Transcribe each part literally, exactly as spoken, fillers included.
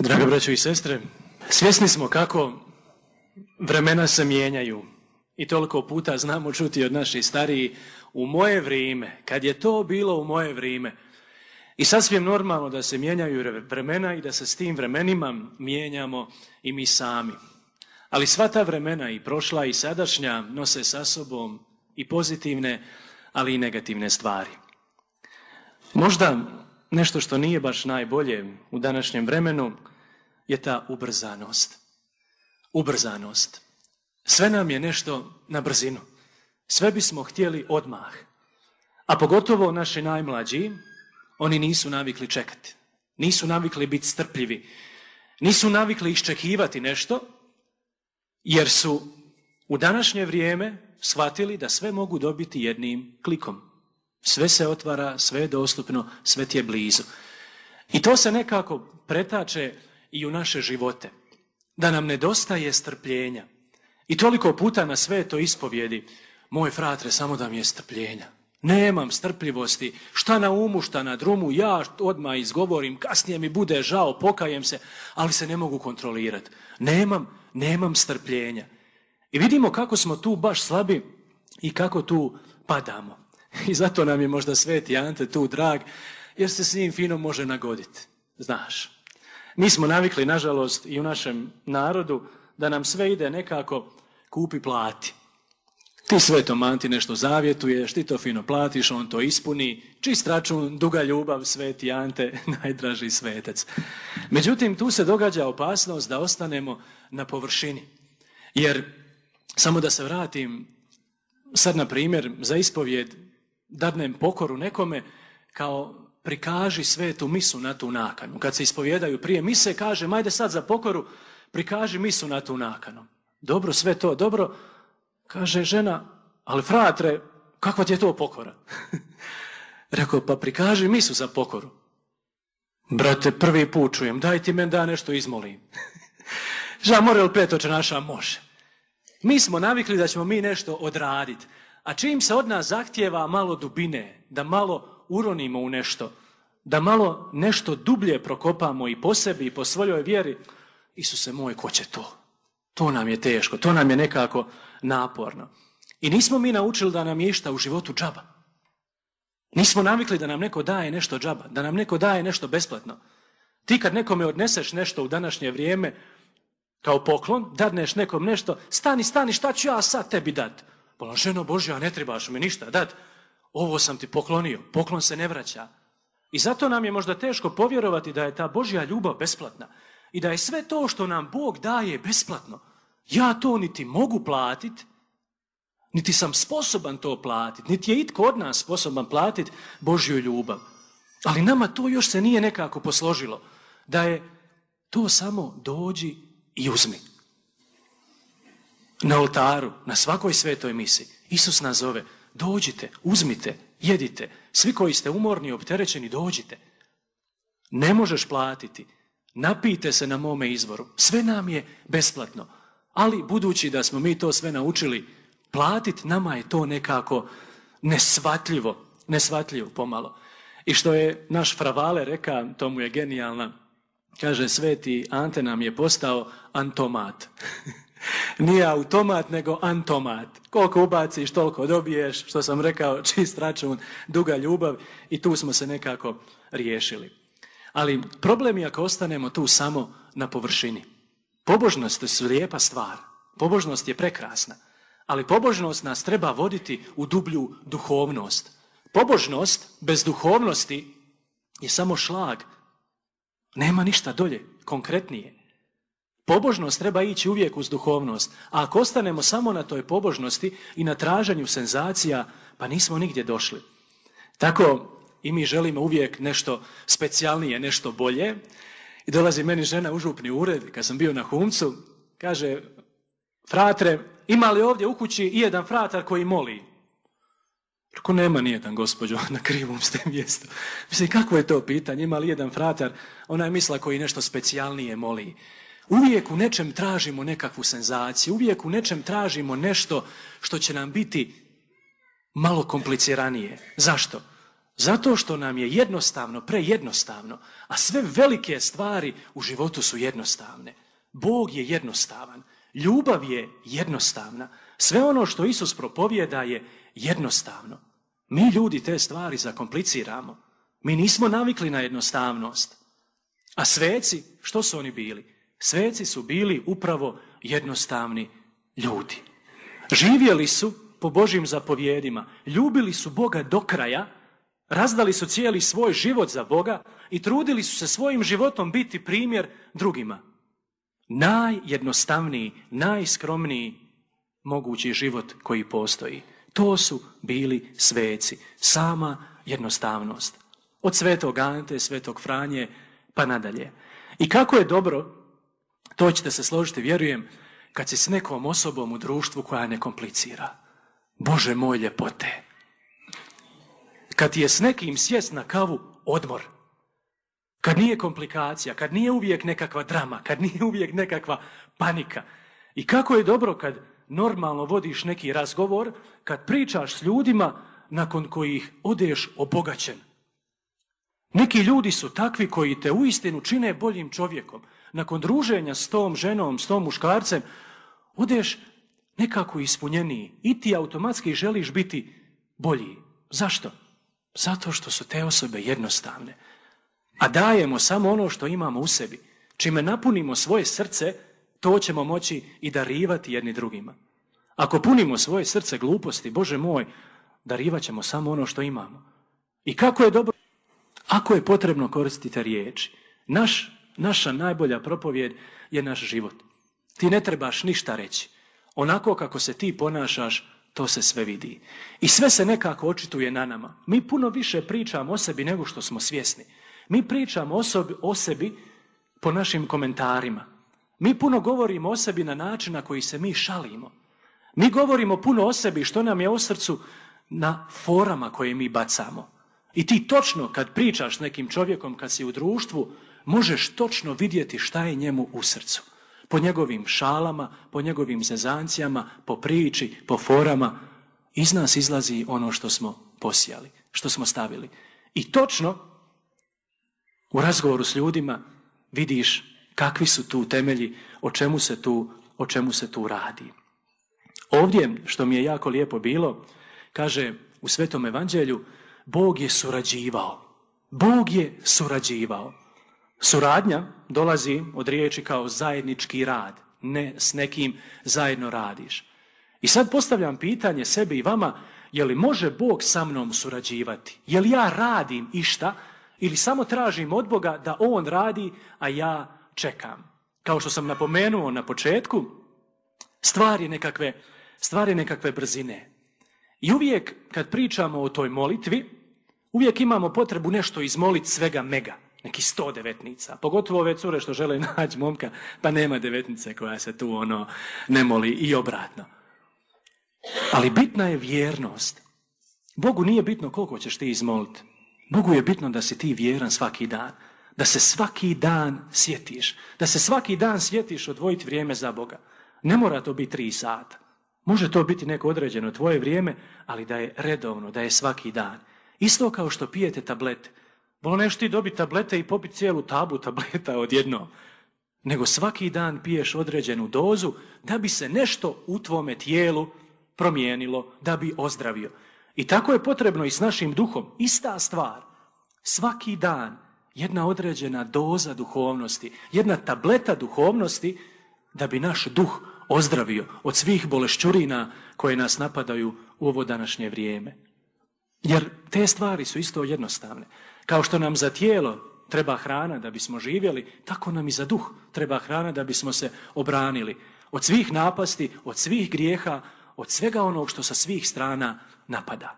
Draga braćo i sestre, svjesni smo kako vremena se mijenjaju i toliko puta znamo čuti od naših starijih u moje vrijeme, kad je to bilo u moje vrijeme. I sasvim normalno da se mijenjaju vremena i da se s tim vremenima mijenjamo i mi sami. Ali sva ta vremena i prošla i sadašnja nose sa sobom i pozitivne, ali i negativne stvari. Možda nešto što nije baš najbolje u današnjem vremenu je ta ubrzanost. Ubrzanost. Sve nam je nešto na brzinu. Sve bismo htjeli odmah. A pogotovo naši najmlađi, oni nisu navikli čekati. Nisu navikli biti strpljivi. Nisu navikli iščekivati nešto, jer su u današnje vrijeme shvatili da sve mogu dobiti jednim klikom. Sve se otvara, sve je dostupno, sve ti je blizu. I to se nekako pretače i u naše živote. Da nam nedostaje strpljenja. I toliko puta na sve to ispovjedi, moj fratre, samo da mi je strpljenja. Nemam strpljivosti, šta na umu, šta na drumu, ja odmah izgovorim, kasnije mi bude žao, pokajem se, ali se ne mogu kontrolirati. Nemam, nemam strpljenja. I vidimo kako smo tu baš slabi i kako tu padamo. I zato nam je možda Sveti Ante tu drag, jer se s njim fino može nagoditi. Znaš, mi smo navikli, nažalost, i u našem narodu, da nam sve ide nekako kupi, plati. Ti Svetom Anti nešto zavjetuješ, ti to fino platiš, on to ispuni, čist račun, duga ljubav, Sveti Ante, najdraži svetec. Međutim, tu se događa opasnost da ostanemo na površini. Jer, samo da se vratim, sad na primjer, za ispovjed, dadnem pokoru nekome, kao prikaži svetu misu na tu nakanu. Kad se ispovjedaju prije mise, kaže, majde sad za pokoru, prikaži misu na tu nakanu. Dobro, sve to, dobro. Kaže žena, ali fratre, kakva ti je to pokora? Rekao, pa prikaži misu za pokoru. Brate, prvi put čujem, daj ti men da nešto izmolim. Ža, more li petoče naša može? Mi smo navikli da ćemo mi nešto odraditi. A čim se od nas zahtijeva malo dubine, da malo uronimo u nešto, da malo nešto dublje prokopamo i po sebi i po svojoj vjeri, Isuse moj, ko će to? To nam je teško, to nam je nekako naporno. I nismo mi naučili da nam je išta u životu džaba. Nismo navikli da nam neko daje nešto džaba, da nam neko daje nešto besplatno. Ti kad nekome odneseš nešto u današnje vrijeme, kao poklon, dadneš nekom nešto, stani, stani, šta ću ja sad tebi dat? Bola, ženo Božja, ne trebaš mi ništa dat. Ovo sam ti poklonio, poklon se ne vraća. I zato nam je možda teško povjerovati da je ta Božja ljubav besplatna. I da je sve to što nam Bog daje besplatno. Ja to niti mogu platiti, niti sam sposoban to platiti, niti je itko od nas sposoban platiti Božju ljubav. Ali nama to još se nije nekako posložilo. Da je to samo dođi i uzmi. Na oltaru, na svakoj svetoj misi, Isus nas zove, dođite, uzmite, jedite. Svi koji ste umorni i opterećeni, dođite. Ne možeš platiti. Napijte se na mome izvoru. Sve nam je besplatno. Ali budući da smo mi to sve naučili platiti, nama je to nekako nesvatljivo. Nesvatljivo pomalo. I što je naš Fravale reka, to mu je genijalna, kaže, Sveti Ante nam je postao antomat. Nije automat, nego antomat. Koliko ubaciš, toliko dobiješ, što sam rekao, čist račun, duga ljubav i tu smo se nekako riješili. Ali problem je ako ostanemo tu samo na površini. Pobožnost je lijepa stvar. Pobožnost je prekrasna. Ali pobožnost nas treba voditi u dublju duhovnost. Pobožnost bez duhovnosti je samo šlag. Nema ništa dolje, konkretnije. Pobožnost treba ići uvijek uz duhovnost. A ako ostanemo samo na toj pobožnosti i na traženju senzacija, pa nismo nigdje došli. Tako i mi želimo uvijek nešto specijalnije, nešto bolje. I dolazi meni žena u župni ured, kad sam bio na Humcu, kaže, fratre, ima li ovdje u kući i jedan fratar koji moli? Reko, nema nijedan, gospođo, na krivom ste mjestu. Mislim, kako je to pitanje? Ima li jedan fratar? Ona je mislila koji nešto specijalnije moli. Uvijek u nečem tražimo nekakvu senzaciju, uvijek u nečem tražimo nešto što će nam biti malo kompliciranije. Zašto? Zato što nam je jednostavno, prejednostavno, a sve velike stvari u životu su jednostavne. Bog je jednostavan, ljubav je jednostavna, sve ono što Isus propovijeda je jednostavno. Mi ljudi te stvari zakompliciramo. Mi nismo navikli na jednostavnost. A sveci, što su oni bili? Sveci su bili upravo jednostavni ljudi. Živjeli su po Božjim zapovjedima, ljubili su Boga do kraja, razdali su cijeli svoj život za Boga i trudili su se svojim životom biti primjer drugima. Najjednostavniji, najskromniji mogući život koji postoji. To su bili sveci, sama jednostavnost. Od svetog Ante, svetog Franje, pa nadalje. I kako je dobro, to ćete se složiti, vjerujem, kad si s nekom osobom u društvu koja ne komplicira. Bože moj, ljepote. Kad ti je s nekim sjest na kavu, odmor. Kad nije komplikacija, kad nije uvijek nekakva drama, kad nije uvijek nekakva panika. I kako je dobro kad normalno vodiš neki razgovor, kad pričaš s ljudima nakon kojih odeš obogaćen. Neki ljudi su takvi koji te uistinu čine boljim čovjekom. Nakon druženja s tom ženom, s tom muškarcem, odeš nekako ispunjeniji i ti automatski želiš biti bolji. Zašto? Zato što su te osobe jednostavne. A dajemo samo ono što imamo u sebi. Čime napunimo svoje srce, to ćemo moći i darivati jedni drugima. Ako punimo svoje srce gluposti, Bože moj, darivat ćemo samo ono što imamo. I kako je dobro, ako je potrebno koristiti riječi. Naš, naša najbolja propovjed je naš život. Ti ne trebaš ništa reći. Onako kako se ti ponašaš, to se sve vidi. I sve se nekako očituje na nama. Mi puno više pričamo o sebi nego što smo svjesni. Mi pričamo o, sobi, o sebi po našim komentarima. Mi puno govorimo o sebi na način na koji se mi šalimo. Mi govorimo puno o sebi što nam je u srcu na forama koje mi bacamo. I ti točno kad pričaš s nekim čovjekom, kad si u društvu, možeš točno vidjeti šta je njemu u srcu. Po njegovim šalama, po njegovim zezancijama, po priči, po forama. Iz nas izlazi ono što smo posijali, što smo stavili. I točno u razgovoru s ljudima vidiš kakvi su tu temelji, o čemu se tu, o čemu se tu radi. Ovdje, što mi je jako lijepo bilo, kaže u Svetom Evanđelju, Bog je surađivao. Bog je surađivao. Suradnja dolazi od riječi kao zajednički rad. Ne s nekim zajedno radiš. I sad postavljam pitanje sebi i vama, je li može Bog sa mnom surađivati? Je li ja radim išta ili samo tražim od Boga da On radi, a ja čekam? Kao što sam napomenuo na početku, stvar je nekakve, stvar je nekakve brzine. I uvijek kad pričamo o toj molitvi, uvijek imamo potrebu nešto izmoliti svega mega. Neki sto devetnica. Pogotovo ove cure što žele naći momka, pa nema devetnice koja se tu ono ne moli i obratno. Ali bitna je vjernost. Bogu nije bitno koliko ćeš ti izmoliti. Bogu je bitno da si ti vjeran svaki dan. Da se svaki dan sjetiš. Da se svaki dan sjetiš odvojiti vrijeme za Boga. Ne mora to biti tri sata. Može to biti neko određeno tvoje vrijeme, ali da je redovno, da je svaki dan. Isto kao što pijete tablete. Voleš ti dobiti tablete i popiti cijelu tablu tableta odjednom. Nego svaki dan piješ određenu dozu da bi se nešto u tvome tijelu promijenilo, da bi ozdravio. I tako je potrebno i s našim duhom. Ista stvar. Svaki dan jedna određena doza duhovnosti, jedna tableta duhovnosti da bi naš duh ozdravio od svih bolešćurina koje nas napadaju u ovo današnje vrijeme. Jer te stvari su isto jednostavne. Kao što nam za tijelo treba hrana da bismo živjeli, tako nam i za duh treba hrana da bismo se obranili od svih napasti, od svih grijeha, od svega onog što sa svih strana napada.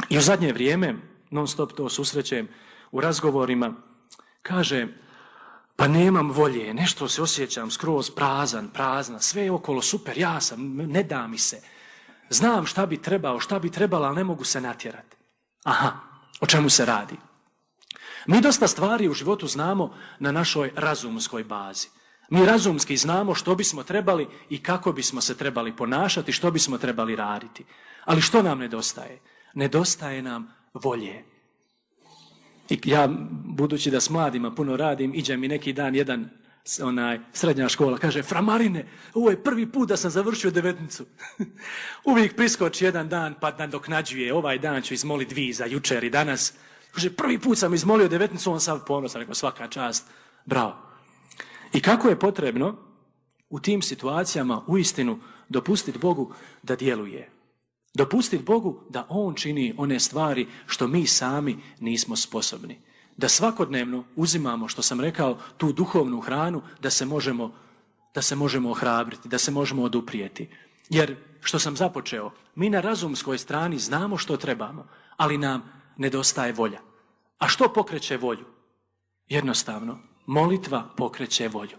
I u zadnje vrijeme, non stop to susrećem u razgovorima, kaže, pa nemam volje, nešto se osjećam skroz prazan, prazna, sve je okolo super, ja sam, ne da mi se. Znam šta bi trebao, šta bi trebala, ali ne mogu se natjerati. Aha, o čemu se radi? Mi dosta stvari u životu znamo na našoj razumskoj bazi. Mi razumski znamo što bismo trebali i kako bismo se trebali ponašati, što bismo trebali raditi. Ali što nam nedostaje? Nedostaje nam volje. I ja, budući da s mladima puno radim, iđe mi neki dan jedan onaj, srednja škola, kaže, Fra Marine, ovo je prvi put da sam završio devetnicu. Uvijek priskoči jedan dan pa nadoknađuje, ovaj dan ću izmoliti dvi za jučer i danas. Kaže, prvi put sam izmolio devetnicu, on sav ponosan, rekao, svaka čast, bravo. I kako je potrebno u tim situacijama uistinu dopustiti Bogu da djeluje. Dopustiti Bogu da On čini one stvari što mi sami nismo sposobni. Da svakodnevno uzimamo, što sam rekao, tu duhovnu hranu da se možemo, da se možemo ohrabriti, da se možemo oduprijeti. Jer, što sam započeo, mi na razumskoj strani znamo što trebamo, ali nam nedostaje volja. A što pokreće volju? Jednostavno, molitva pokreće volju.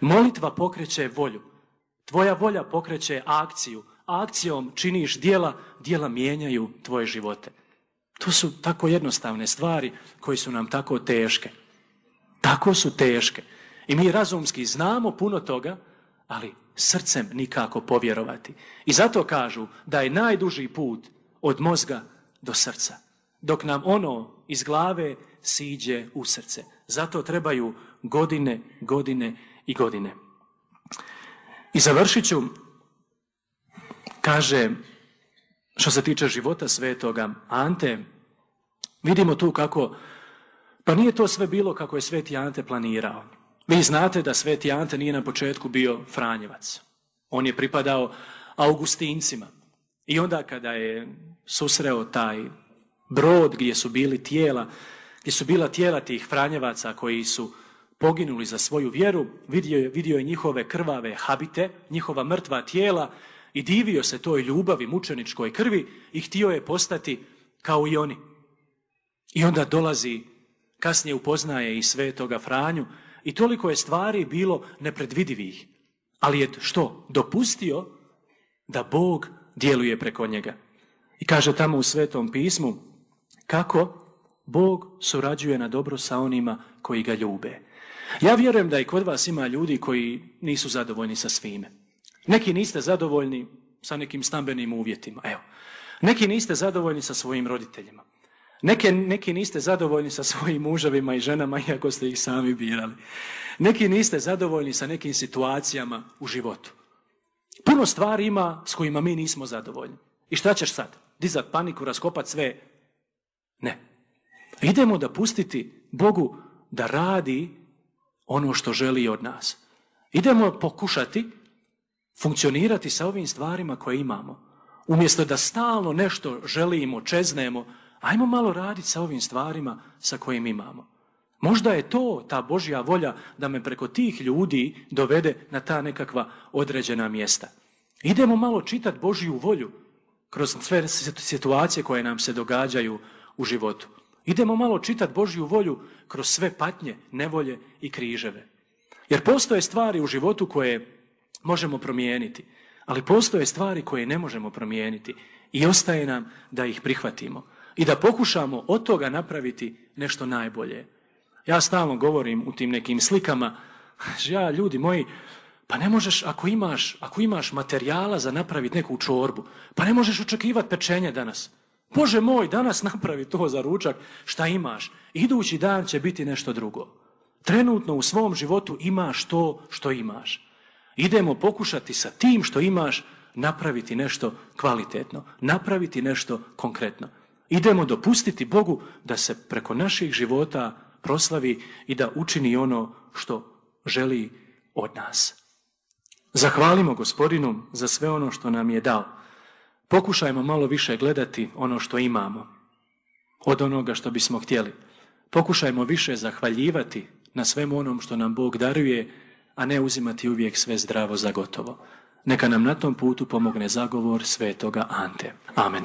Molitva pokreće volju. Tvoja volja pokreće akciju. Akcijom činiš djela, djela mijenjaju tvoje živote. To su tako jednostavne stvari koje su nam tako teške. Tako su teške. I mi razumski znamo puno toga, ali srcem nikako povjerovati. I zato kažu da je najduži put od mozga do srca. Dok nam ono iz glave siđe u srce. Zato trebaju godine, godine i godine. I završit ću, kaže, što se tiče života svetoga Ante, vidimo tu kako, pa nije to sve bilo kako je sveti Ante planirao. Vi znate da sveti Ante nije na početku bio Franjevac. On je pripadao Augustincima. I onda kada je susreo taj brod gdje su bili tijela, gdje su bila tijela tih Franjevaca koji su poginuli za svoju vjeru, vidio je, vidio je njihove krvave habite, njihova mrtva tijela i divio se toj ljubavi, mučeničkoj krvi i htio je postati kao i oni. I onda dolazi, kasnije upoznaje i svetoga Franju i toliko je stvari bilo nepredvidivih. Ali je što? Dopustio da Bog djeluje preko njega. I kaže tamo u Svetom pismu kako Bog surađuje na dobro sa onima koji ga ljube. Ja vjerujem da i kod vas ima ljudi koji nisu zadovoljni sa svime. Neki niste zadovoljni sa nekim stambenim uvjetima. Evo. Neki niste zadovoljni sa svojim roditeljima. Neke, neki niste zadovoljni sa svojim muževima i ženama, iako ste ih sami birali. Neki niste zadovoljni sa nekim situacijama u životu. Puno stvari ima s kojima mi nismo zadovoljni. I šta ćeš sad? Dizat paniku, raskopat sve? Ne. Idemo da pustiti Bogu da radi ono što želi od nas. Idemo pokušati funkcionirati sa ovim stvarima koje imamo. Umjesto da stalno nešto želimo, čeznemo, ajmo malo raditi sa ovim stvarima sa kojim imamo. Možda je to ta Božja volja da me preko tih ljudi dovede na ta nekakva određena mjesta. Idemo malo čitati Božju volju kroz sve situacije koje nam se događaju u životu. Idemo malo čitati Božju volju kroz sve patnje, nevolje i križeve. Jer postoje stvari u životu koje možemo promijeniti, ali postoje stvari koje ne možemo promijeniti i ostaje nam da ih prihvatimo i da pokušamo od toga napraviti nešto najbolje. Ja stalno govorim u tim nekim slikama, ja, ljudi moji, pa ne možeš, ako imaš, ako imaš materijala za napraviti neku čorbu, pa ne možeš očekivati pečenje danas. Bože moj, danas napravi to za ručak, šta imaš? Idući dan će biti nešto drugo. Trenutno u svom životu imaš to što imaš. Idemo pokušati sa tim što imaš napraviti nešto kvalitetno, napraviti nešto konkretno. Idemo dopustiti Bogu da se preko naših života proslavi i da učini ono što želi od nas. Zahvalimo Gospodinu za sve ono što nam je dao. Pokušajmo malo više gledati ono što imamo od onoga što bismo htjeli. Pokušajmo više zahvaljivati na svemu onom što nam Bog daruje, a ne uzimati uvijek sve zdravo za gotovo. Neka nam na tom putu pomogne zagovor svetoga Ante. Amen.